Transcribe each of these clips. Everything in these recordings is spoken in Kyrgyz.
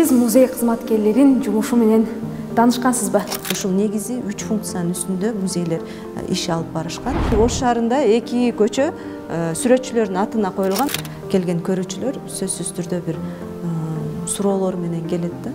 Сиз музей кызматкерлерин жумушу менен таанышкансызбы? Ушул негизи 3 функциянын үстүндө музейлер иш алып барышкан. Ош шаарында 2 көчө сүрөтчүлөрдүн атына коюлган. Келген көрүүчүлөр сөзсүз түрдө бир суроолор менен келет да.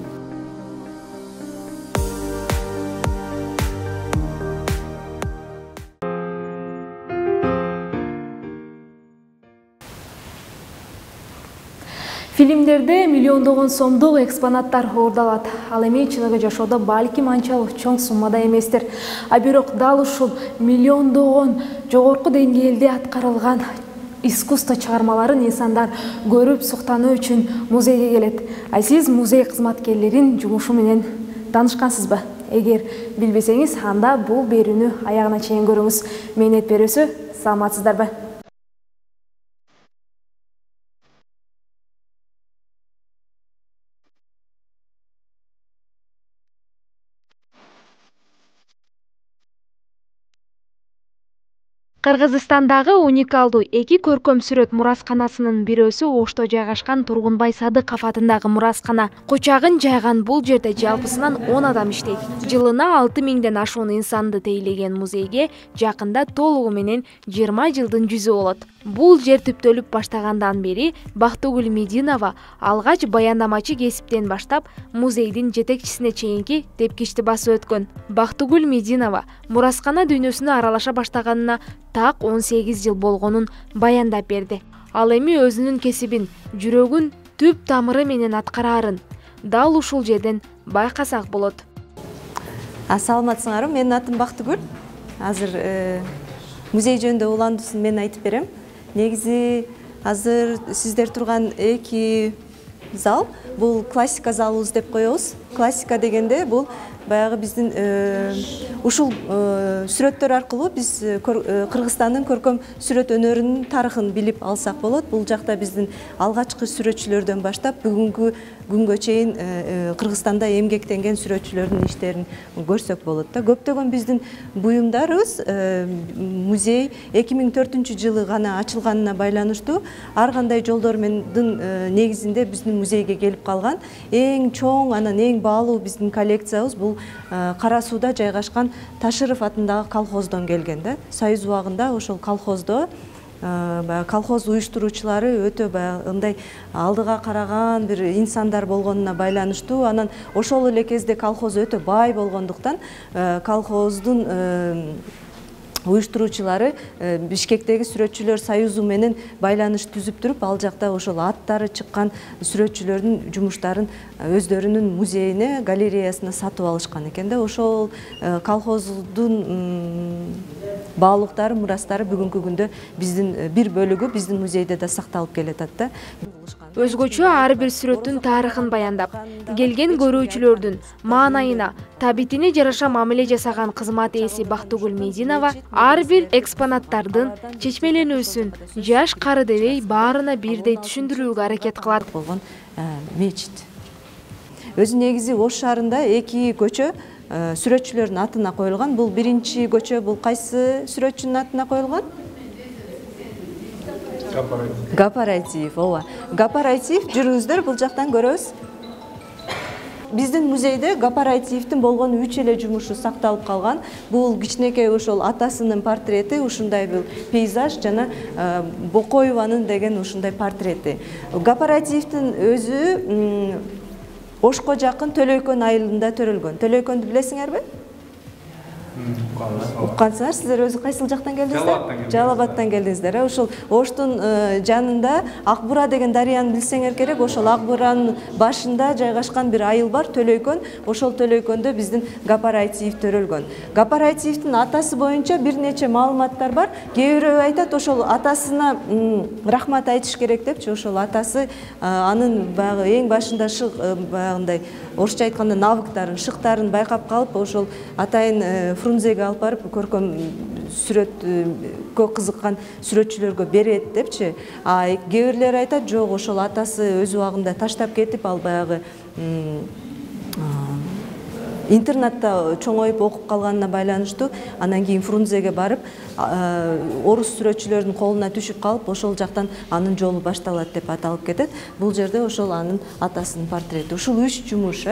Фильмдерде миллиондогон сомдук экспонаттар ордалат. Ал эми чыныгы жашоодо балким анчалык чоң суммада эместир. А бирок дал ушул миллиондогон жогорку деңгээлде аткарылган искусство чыгармаларын инсандар көрүп суктануу үчүн музейге келет. А сиз музей кызматкерлерин жумушу менен таанышкансызбы? Эгер билбесеңиз, анда бул берүүнү аягына чейин көрүңүз. Мээнет берүүсү, саламатсыздарбы? Кыргызстандагы уникалдуу 2 көркөм сүрөт мурасканасынын бирөөсү Ошто жайгашкан Тургунбай Садыков атындагы мураскана. Кучагын жайган бул жерде жалпысынан 10 адам иштейт. Жылына 6000ден ашуун инсанды тейлеген музейге жакында толугу менен 20 жылдын жүзү болот. Бул жер түптөлүп баштагандан бери Бактыгүл Мединова алгач баяндамачы кесиптен баштап музейдин жетекчисине чейинки тепкичти басып өткөн. Бактыгүл Мединова мураскана дүйнөсүнө аралаша баштаганына так 18 жыл болгонун баяндап берди. Ал эми өзүнүн кесибин, жүрөгүн түп тамыры менен аткараарын дал ушул жерден байкасак болот. Саламатсыңарбы? Менин атым Бактыгүл. Азыр музей жөнүндө уландуусын мен айтып берем. Негизи азыр сиздер турган 2 зал бул классика залыбыз деп коебуз. Классика дегенде бул баягы биздин ушул сүрөттөр аркылуу биз Кыргызстандын көркөм сүрөт өнөрүнүн тарыхын билип алсак болот. Бул жакта биздин алгачкы сүрөтчүлөрдөн баштап бүгүнкү күнгө чейин Кыргызстанда эмгектенген сүрөтчүлөрдүн иштерин көрсөк болот да. Көптөгөн биздин буюмдарыбыз музей 2004-жылы гана ачылганына байланыштуу ар кандай жолдор менен негизинде биздин музейге келип калган. Эң чоң, анан эң баалуу биздин коллекциябыз бул Кара сууда жайгашкан Ташыров атындагы колхоздон келген да. Союз убагында ошол колхоздо колхоз уюштуруучулары өтө мындай алдыга караган бир инсандар болгонуна байланыштуу, анан ошол эле кезде колхоз өтө бай болгондуктан колхоздун уюштуруучулары Бишкектеги сүрөтчүлөр союзу менен байланыш түзүп туруп, ал жакта ошол аттары чыккан сүрөтчүлөрдүн жумуштарын өздөрүнүн музейине, галереясына сатып алышкан экен да. Ошол колхоздун баалуулуктары, мурастары бүгүнкү күндө биздин бир бөлүгү биздин музейде да сакталып келатат да. Өзгөчө ар бир сүрөттүн тарыхын баяндап, келген көрүүчүлөрдүн маанайына, табитине жараша мамиле жасаган кызмат ээси Бактыгүл Мединова ар бир экспонаттардын чечмеленүүсүн жаш кары дебей баарына бирдей түшүндүрүүгө аракет кылат. Болгон мечит. Өзү негизи Ош шаарында 2 көчө сүрөтчүлөрдүн атына коюлган. Бул биринчи көчө бул кайсы сүрөтчүнүн атына коюлган? Гапарайтиев, ооба. Гапарайтиев, жүрүңүздөр, бул жактан көрөбүз. Биздин музейде Гапарайтиевдин болгон 3 эле жумушу сакталып калган. Бул кичинекей ошол атасынын портрети, ушундай бул пейзаж жана Бокоеванын деген ушундай портрети. Гапарайтиевдин өзү Ошко жакын Төлөйкөн айылында төрөлгөн. Төлөйкөндү билесиңерби? Уккансыңар, сиздер өзү кайсыл жактан келдиңиздер? Жалал Абадтан келдиңиздер. Ошол Оштун жанында Акбура деген дарыяны билсеңер керек. Ошол Акбуранын башында жайгашкан бир айыл бар, Төлөйкөн. Ошол Төлөйкөндө биздин Гапарайтиев төрөлгөн. Гапарайтиевдин атасы боюнча бир нече маалыматтар бар. Кээ бирөө айтат, ошол атасына рахмат айтыш керек депчи. Ошол атасы анын баягы эң башында баягындай орусча айтканда навыктарын, шыктарын байкап калып, ошол атайын Фрунзеге алып барып көркөм сүрөткө кызыккан сүрөтчүлөргө берет депчи. А кээ бирлер айтат, жок, ошол атасы өз убагында таштап кетип, ал баягы интернатта чоңоюп окуп калганына байланыштуу анан кийин Фрунзеге барып орус сүрөтчүлөрдүн колуна түшүп калып ошол жактан анын жолу башталат деп аталып кетет. Бул жерде ошол анын атасынын портрети. Ушул 3 жумуш.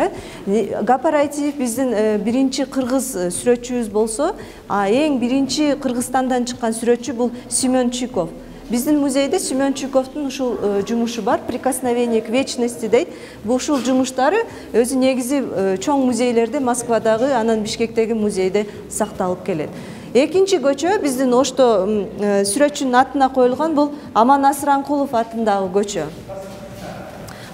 Гапарайтиев биздин биринчи кыргыз сүрөтчүбүз болсо, эң биринчи Кыргызстандан чыккан сүрөтчү бул Семен Чуйков. Биздин музейде Семен Чуйковдун ушул жумушу бар, «Прикосновение к вечности» дейт. Бул ушул жумуштары өзү негизи чоң музейлерде, Москвадагы, анан Бишкектеги музейде сакталып келет. Экинчи көчө биздин Ошто сүрөтчүнүн атына коюлган, бул Аман Асыранкулов атындагы көчө.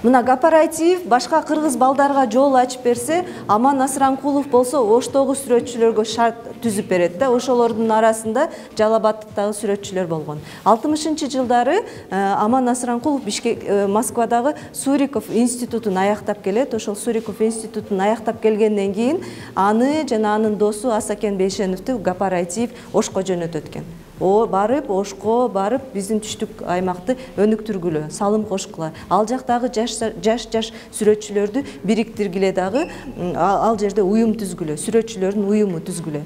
Мына Гапарайтиев башка кыргыз балдарга жол ачып берсе, Аман Асыранкулов болсо Оштогу сүрөтчүлөргө шарт түзүп берет да. Ошолордун арасында Жалал Абадтагы сүрөтчүлөр болгон. 60-жылдары Аман Асыранкулов Москвадагы Суриков институтун аяктап келет. Ошол Суриков институтун аяктап келгенден кийин аны жана анын досу Асакен Бейшеновду Гапарайтиев Ошко жөнөтөт экен. Барып, Ошко барып, биздин түштүк аймакты өнүктүргүлө, салым кошкула. Ал жактагы жаш сүрөтчүлөрдү бириктиргиле дагы, ал жерде уюм түзгүлө, сүрөтчүлөрдүн уюму түзгүлө.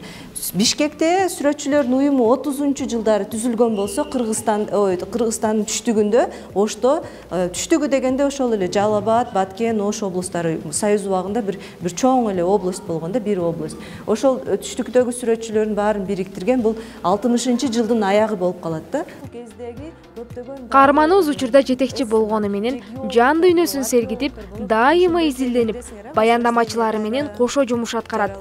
Бишкекте сүрөтчүлөрдүн уюму 30-жылдары түзүлгөн болсо, Кыргызстандын түштүгүндө, Ошто, түштүгү дегенде ошол эле Жалал Абад, Баткен, Ош облустары Союз убагында бир чоң эле область болгон да, бир область. Ошол түштүктөгү сүрөтчүлөрдүн баарын бириктирген бул 60-жылдын аягы болуп калат да. Каарманыбыз учурда жетекчи болгону менен жан дүйнөсүн сергитип, дайыма изилденип, баяндамачылары менен кошо жумуш аткарат.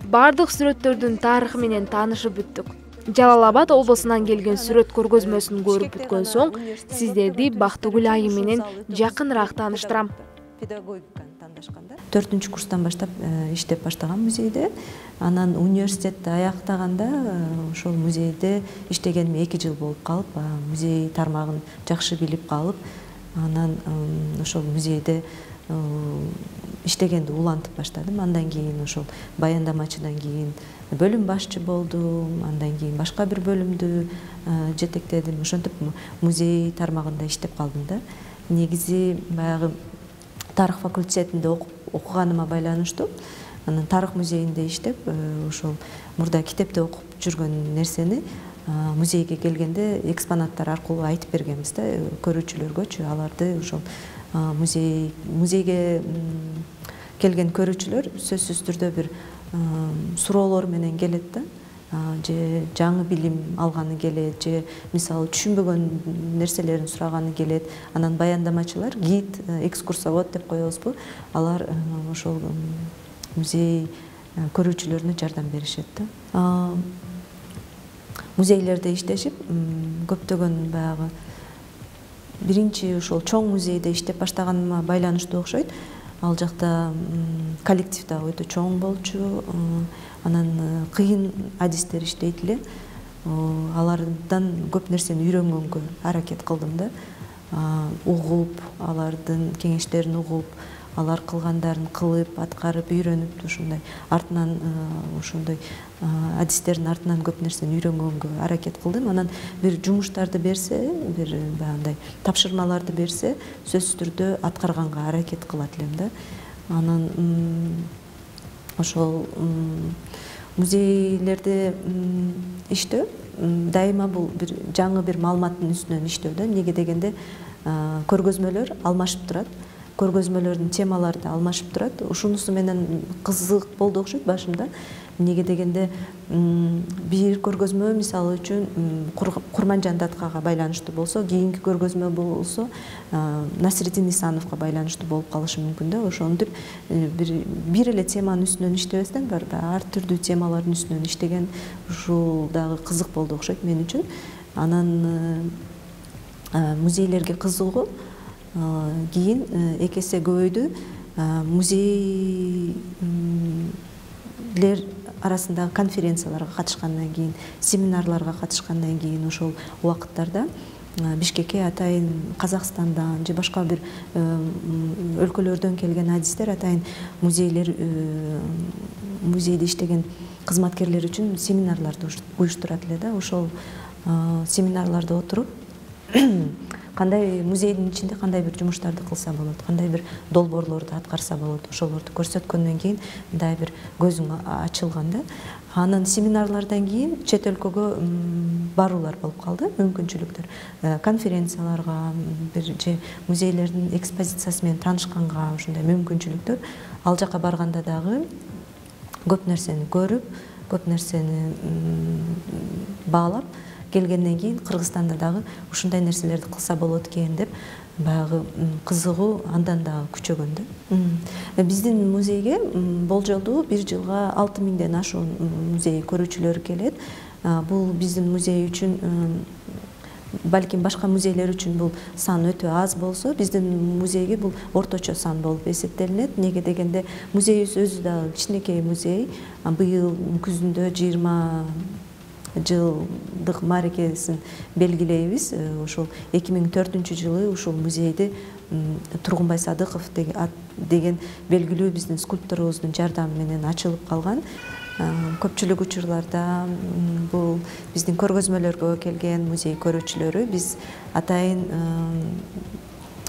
Бардык сүрөттөрдүн тарыхы менен таанышып бүттүк. Жалал Абад облусунан келген сүрөт көргөзмөсүн көрүп бүткөн соң, сиздерди Бактыгүл айым менен жакыныраак тааныштырам. 4-курстан баштап иштеп баштаган музейде, анан университетти аяктаганда ошол музейде иштегениме 2 жыл болуп калып, музей тармагын жакшы билип калып, анан ошол музейде иштегенди улантып баштадым. Андан кийин ошол баяндамачыдан кийин бөлүм башчы болдум, андан кийин башка бир бөлүмдү жетектедим. Ошентип музей тармагында иштеп калдым да. Негизи баягы тарых факультетинде окуганыма байланыштуу, анан тарых музейинде иштеп, ошол мурда китепте окуп жүргөн нерсени музейге келгенде экспонаттар аркылуу айтып бергенбиз да, көрүүчүлөргөчү. Аларды ошол музейге келген көрүүчүлөр сөзсүз түрдө бир суроолор менен келет да, же жаңы билим алганы келет, же мисалы түшүнбөгөн нерселерин сураганы келет. Анан баяндамачылар, гид, экскурсовод деп коебузбу, алар ошол музей көрүүчүлөрүнө жардам беришет да. Музейлерде иштешип, көптөгөн баягы биринчи ошол чоң музейде иштеп баштаганыма байланыштуу окшойт. Ал жакта коллектив да өтө чоң болчу, анан кыйын адистер иштейт эле. Алардан көп нерсени үйрөнгөнгө аракет кылдым да. Угуп, алардын кеңештерин угуп, алар кылгандарын кылып, аткарып, үйрөнүп, ушундай артынан ошондой адистердин артынан көп нерсени үйрөнгөнгө аракет кылдым. Анан бир жумуштарды берсе, бир баягындай тапшырмаларды берсе, сөзсүз түрдө аткарганга аракет кылат элем да. Анан ошол музейлерде иштөө дайыма бул бир жаңы бир маалыматтын үстүнөн иштөө да. Эмнеге дегенде көргөзмөлөр алмашып турат. Көргөзмөлөрдүн темалары да алмашып турат. Ушунусу менен кызык болду окшойт башында. Эмнеге дегенде бир көргөзмө мисалы үчүн Курманжан Даткага байланыштуу болсо, кийинки көргөзмө болсо Насирдин Исановго байланыштуу болуп калышы мүмкүн да. Ошентип бир эле теманын үстүнөн иштебестен ар түрдүү темалардын үстүнөн иштеген ушул дагы кызык болду окшойт мен үчүн. Анан музейлерге кызыгуу кийин эки эсе көбөйдү. Музейлер арасындагы конференцияларга катышкандан кийин, семинарларга катышкандан кийин ошол убакыттарда Бишкекке атайын Казакстандан же башка бир өлкөлөрдөн келген адистер атайын музейде иштеген кызматкерлер үчүн семинарларды уюштурат эле да. Ошол семинарларда отуруп кандай музейдин ичинде кандай бир жумуштарды кылса болот, кандай бир долбоорлорду аткарса болот, ошолорду көрсөткөндөн кийин мындай бир көзүң ачылган да. Анан семинарлардан кийин чет өлкөгө баруулар болуп калды, мүмкүнчүлүктөр. Конференцияларга, бир же музейлердин экспозициясы менен таанышканга ушундай мүмкүнчүлүктөр. Ал жака барганда дагы көп нерсени көрүп, көп нерсени баалап келгенден кийин Кыргызстанда дагы ушундай нерселерди кылса болот экен деп баягы кызыгуу андан дагы күчөгөн да. Биздин музейге болжолдуу бир жылга 6000ден ашуун музей көрүүчүлөр келет. Бул биздин музей үчүн, балким башка музейлер үчүн бул сан өтө аз болсо, биздин музейге бул орточо сан болуп эсептелинет. Неге дегенде музейибиз өзү дагы кичинекей музей. Быйыл күзүндө 20 жылдык мааракесин белгилейбиз. Ошол 2004-жылы ушул музейди Тургунбай Садыков деген белгилүү биздин скульпторубуздун жардамы менен ачылып калган. Көпчүлүк учурларда бул биздин көргөзмөлөргө келген музей көрүүчүлөрү биз атайын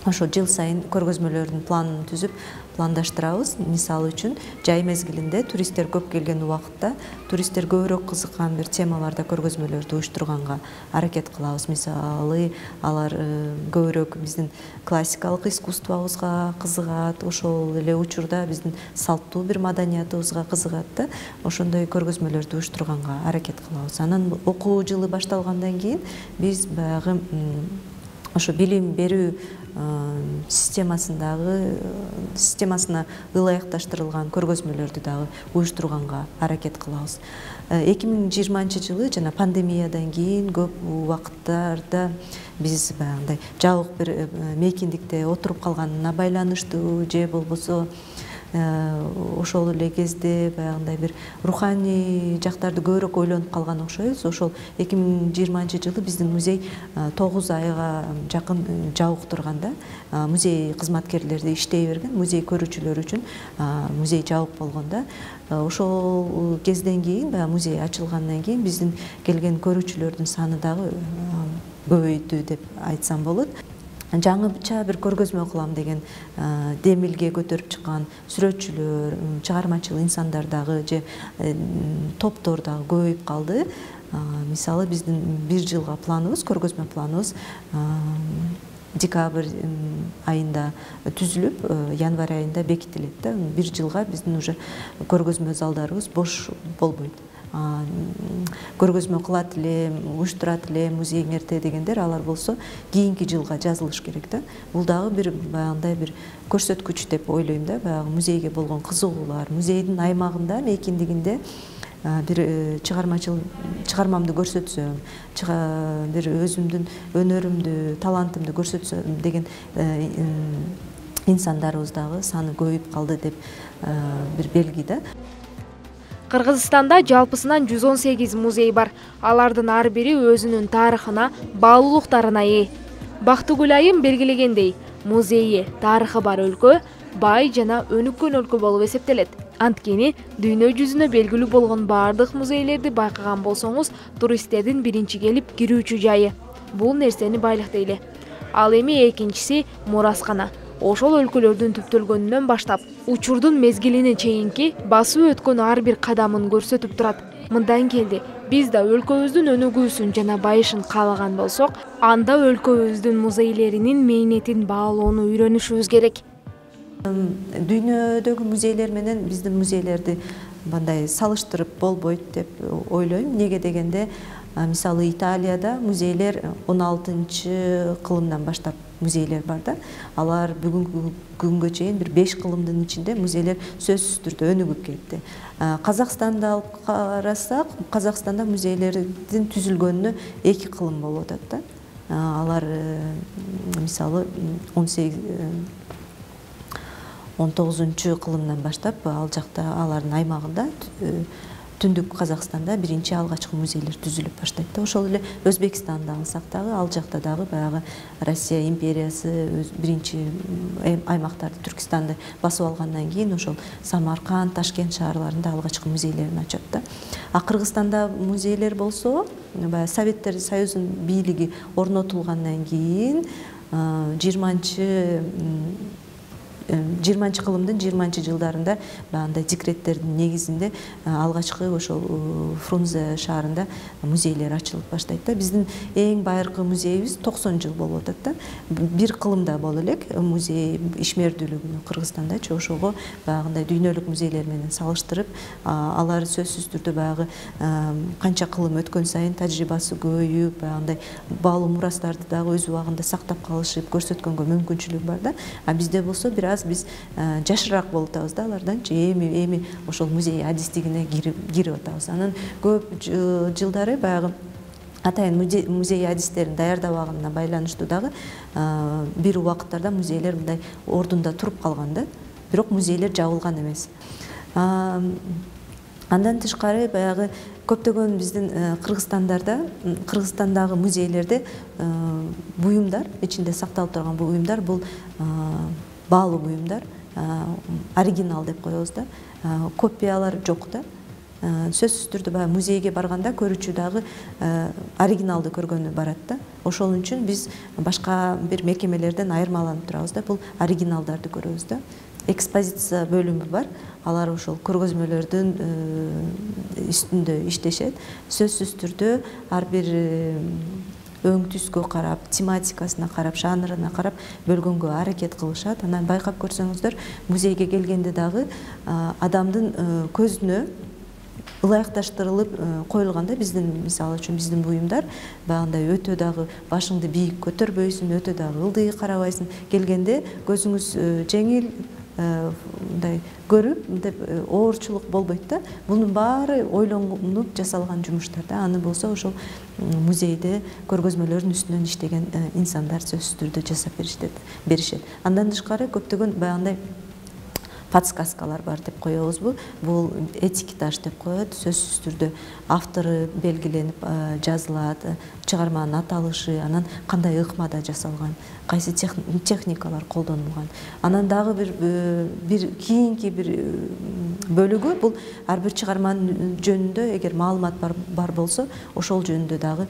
ошо жыл сайын көргөзмөлөрдүн планын түзүп пландаштырабыз. Мисалы үчүн жай мезгилинде туристтер көп келген убакытта туристтер көбүрөөк кызыккан бир темаларда көргөзмөлөрдү уюштурганга аракет кылабыз. Мисалы алар көбүрөөк биздин классикалык искусствобузга кызыгат, ошол эле учурда биздин салттуу бир маданиятыбызга кызыгат да. Ошондой көргөзмөлөрдү уюштурганга аракет кылабыз. Анан окуу жылы башталгандан кийин биз баягы ошо билим берүү системасына ылайыкташтырылган көргөзмөлөрдү дагы уюштурганга аракет кылабыз. 2020-жылы жана пандемиядан кийин көп убакыттарда биз баягындай жабык бир мейкиндикте отуруп калганына байланыштуу же болбосо ошол эле кезде баягындай бир руханий жактарды көбүрөөк ойлонуп калган окшойбуз. Ошол 2020-жылы биздин музей 9 айга жакын жабык турганда музей кызматкерлери иштей берген, музей көрүүчүлөр үчүн музей жабык болгондо ошол кезден кийин баягы музей ачылгандан кийин биздин келген көрүүчүлөрдүн саны дагы көбөйдү деп айтсам болот. Жаңыча бир көргөзмө кылам деген демилге көтөрүп чыккан сүрөтчүлөр, чыгармачыл инсандар дагы же топтор дагы көбөйүп калды. Мисалы биздин бир жылга планыбыз, көргөзмө планыбыз декабрь айында түзүлүп, январь айында бекитилет да. Бир жылга биздин уже көргөзмө залдарыбыз бош болбойт. Көргөзмө кылат элем, уюштурат элем музейиңерде дегендер, алар болсо кийинки жылга жазылыш керек да. Бул дагы бир баягындай бир көрсөткүч деп ойлойм да. Баягы музейге болгон кызыгуулар, музейдин аймагында, мейкиндигинде бир чыгармамды көрсөтсөм, бир өзүмдүн өнөрүмдү, талантымды көрсөтсөм деген инсандарыбыз дагы саны көбөйүп калды деп бир белги да. Кыргызстанда жалпысынан 118 музей бар. Алардын ар бири өзүнүн тарыхына, баалуулуктарына ээ. Бактыгүл айым белгилегендей, музейи тарыхы бар өлкө бай жана өнүккөн өлкө болуп эсептелет. Анткени дүйнө жүзүнө белгилүү болгон баардык музейлерди байкаган болсоңуз, туристтердин биринчи келип кирүүчү жайы. Бул нерсени байлыктайлы. Ал эми экинчиси мураскана. Ошол өлкөлөрдүн түптөлгөнүнөн баштап учурдун мезгилине чейинки басып өткөн ар бир кадамын көрсөтүп турат. Мындан келди, биз да өлкөбүздүн өнүгүүсүн жана байышын каалаган болсок, анда өлкөбүздүн музейлеринин мээнетин баалоону үйрөнүшүбүз керек. Дүйнөдөгү музейлер менен биздин музейлерди мындай салыштырып болбойт деп ойлойм. Неге дегенде, мисалы Италияда музейлер 16-кылымдан баштап музейлер бар да. Алар бүгүнкү күнгө чейин бир 5 кылымдын ичинде музейлер сөзсүз түрдө өнүгүп кетти. Казакстанды алып карасак, Казакстанда музейлердин түзүлгөнүнө 2 кылым болуп атат да. Алар мисалы 19-кылымдан баштап ал жакта алардын аймагында түндүк Казакстанда биринчи алгачкы музейлер түзүлүп баштайт да. Ошол эле Өзбекстанды алсак дагы, ал жакта дагы баягы Россия империясы биринчи аймактарды, Түркистанды басып алгандан кийин ошол Самарканд, Ташкент шаарларында алгачкы музейлерин ачат да. Кыргызстанда музейлер болсо, баягы Советтер Союзунун бийлиги орнотулгандан кийин 20 кылымдын 20 жылдарында баягындай декреттердин негизинде алгачкы ошол Фрунзе шаарында музейлер ачылып баштайт да. Биздин эң байыркы музейибиз 90 жыл болуп атат да. Бир кылымда боло элек музей ишмердүүлүгүнө Кыргызстандачы ошого баягындай дүйнөлүк музейлер менен салыштырып, алар сөзсүз түрдө баягы канча кылым өткөн сайын тажрыйбасы көбөйүп, баягындай баалуу мурастарды дагы өз убагында сактап калышып көрсөткөнгө мүмкүнчүлүгү бар да. А бизде болсо биз жашыраак болуп атабыз да аларданчы, эми ошол музей адистигине кирип атабыз. Анан көп жылдары баягы атайын музей адистерин даярдабаганына байланыштуу дагы бир убакыттарда музейлер мындай ордунда туруп калган да. Бирок музейлер жабылган эмес. Андан тышкары баягы көптөгөн биздин Кыргызстандагы музейлерде буюмдар, ичинде сакталып турган буюмдар бул баалуу буюмдар, оригинал деп коебуз да. Копиялар жок да. Сөзсүз түрдө баягы музейге барганда көрүүчү дагы оригиналды көргөнү барат да. Ошол үчүн биз башка бир мекемелерден айырмаланып турабыз да. Бул оригиналдарды көрөбүз да. Экспозиция бөлүмү бар. Алар ошол көргөзмөлөрдүн үстүндө иштешет. Сөзсүз түрдө ар бир өң түскө карап, тематикасына карап, жанрына карап бөлгөнгө аракет кылышат. Анан байкап көрсөңүздөр, музейге келгенде дагы адамдын көзүнө ылайыкташтырылып коюлган да. Биздин мисалы үчүн биздин буюмдар баягындай өтө дагы башыңды бийик көтөрбөйсүң, өтө дагы ылдый карабайсың. Келгенде көзүңүз жеңил мындай көрүп, мындай оорчулук болбойт да. Бунун баары ойлонуп жасалган жумуштар да. Аны болсо ошол музейде көргөзмөлөрдүн үстүнөн иштеген инсандар сөзсүз түрдө жасап беришет. Андан тышкары көптөгөн баягындай подсказкалар бар деп коебузбу. Бул этикетаж деп коет. Сөзсүз түрдө автору белгиленип жазылат, чыгарманын аталышы, анан кандай ыкмада жасалган, кайсы техникалар колдонулган. Анан дагы бир кийинки бир бөлүгү бул ар бир чыгарманын жөнүндө эгер маалымат бар болсо, ошол жөнүндө дагы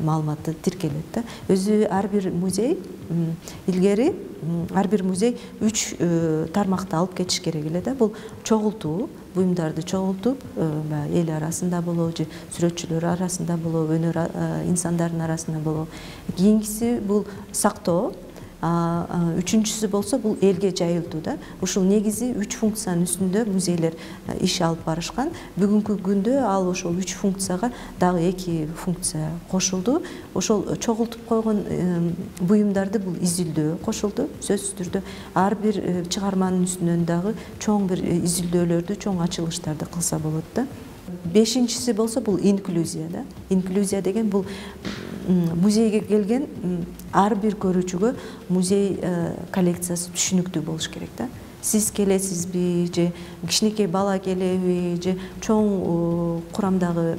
маалыматты тиркелет да. Өзү ар бир музей илгери ар бир музей 3 тармакты алып кетиш керек эле да. Бул чогултуу, буюмдарды чогултуп, эл арасында болобу же сүрөтчүлөр арасында болобу, өнөр инсандардын арасында болобу. Кийинкиси бул сактоо, үчүнчүсү болсо бул элге жайылтуу да. Ушул негизи 3 функциянын үстүндө музейлер иш алып барышкан. Бүгүнкү күндө ал ошол 3 функцияга дагы 2 функция кошулду. Ошол чогултуп койгон буюмдарды бул изилдөө кошулду. Сөзсүз түрдө ар бир чыгарманын үстүнөн дагы чоң бир изилдөөлөрдү, чоң ачылыштарды кылса болот да. Бешинчиси болсо бул инклюзия да. Инклюзия деген бул музейге келген ар бир көрүүчүгө музей коллекциясы түшүнүктүү болуш керек да. Сиз келесизби, же кичинекей бала келеби, же чоң курамдагы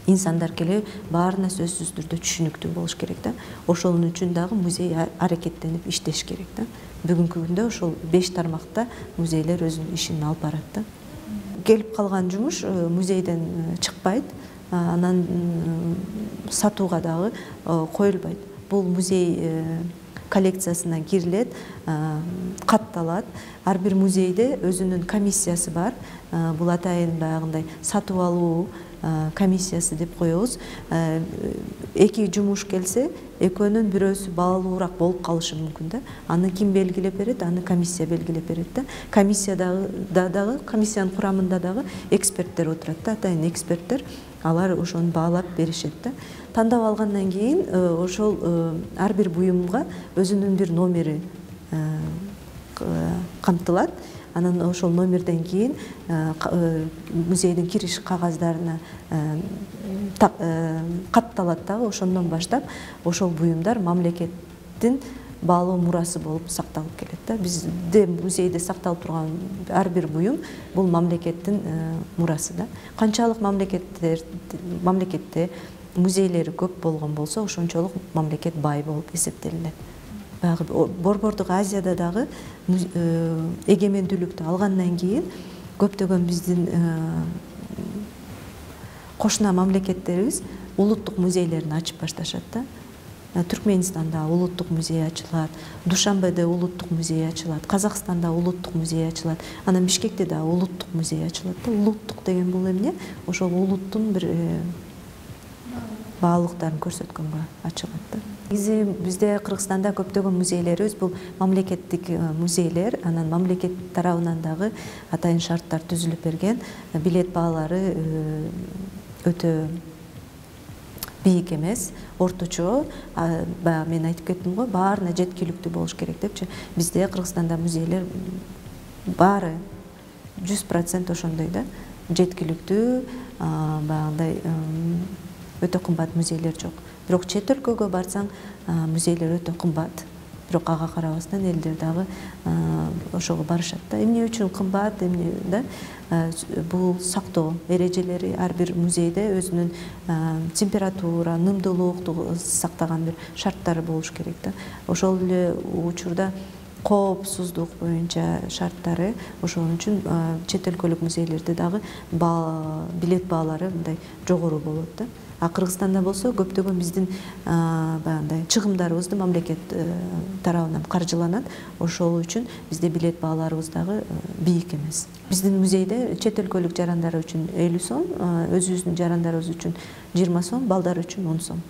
инсандар келеби, баарына сөзсүз түрдө түшүнүктүү болуш керек да. Ошол үчүн дагы музей аракеттенип иштеш керек да. Бүгүнкү күндө ошол 5 тармакта музейлер өзүнүн ишин алып барат да. Келип калган жумуш музейден чыкпайт, анан сатууга дагы коюлбайт. Бул музей коллекциясына кирилет, катталат. Ар бир музейде өзүнүн комиссиясы бар. Бул атайын баягындай сатып алуу комиссиясы деп коебуз. 2 жумуш келсе, экөөнүн бирөөсү баалуураак болуп калышы мүмкүн да. Аны ким белгилеп берет? Аны комиссия белгилеп берет да. Комиссиянын курамында дагы эксперттер отурат да, атайын эксперттер. Алар ошону баалап беришет да. Тандап алгандан кийин ошол ар бир буюмга өзүнүн бир номери камтылат. Анан ошол номерден кийин музейдин кириш кагаздарына катталат дагы. Ошондон баштап ошол буюмдар мамлекеттин баалуу мурасы болуп сакталып келет да. Бизде музейде сакталып турган ар бир буюм бул мамлекеттин мурасы да. Канчалык мамлекетте музейлери көп болгон болсо, ошончолук мамлекет бай болуп эсептелинет. Баягы Борбордук Азияда дагы эгемендүүлүктү алгандан кийин көптөгөн биздин кошуна мамлекеттерибиз улуттук музейлерин ачып башташат да. Түркменистанда улуттук музей ачылат, Душанбеде улуттук музей ачылат, Казакстанда улуттук музей ачылат, анан Бишкекте да улуттук музей ачылат да. Улуттук деген бул эмне? Ошол улуттун бир баалыктарын көрсөткөнгө ачылат да. Негизи бизде Кыргызстанда көптөгөн музейлерибиз бул мамлекеттик музейлер, анан мамлекет тарабынан дагы атайын шарттар түзүлүп берген, билет баалары өтө бийик эмес, орточо. Баягы мен айтып кеттим го, баарына жеткиликтүү болуш керек депчи. Бизде Кыргызстанда музейлер баары 100% ошондой да, жеткиликтүү, баягындай өтө кымбат музейлер жок. Бирок чет өлкөгө барсаң, музейлер өтө кымбат. Бирок ага карабастан элдер дагы ошого барышат да. Эмне үчүн кымбат, эмне да? Бул сактоо эрежелери, ар бир музейде өзүнүн температура, нымдуулукту сактаган бир шарттары болуш керек да. Ошол эле учурда коопсуздук боюнча шарттары, ошон үчүн чет өлкөлүк музейлерде дагы билет баалары мындай жогору болот да. А Кыргызстанда болсо көптөгөн биздин баягындай чыгымдарыбызды мамлекет тарабынан каржыланат. Ошол үчүн бизде билет бааларыбыз дагы бийик эмес. Биздин музейде чет өлкөлүк жарандар үчүн 50 сом, өзүбүздүн жарандарыбыз үчүн 20 сом, балдар үчүн 10 сом.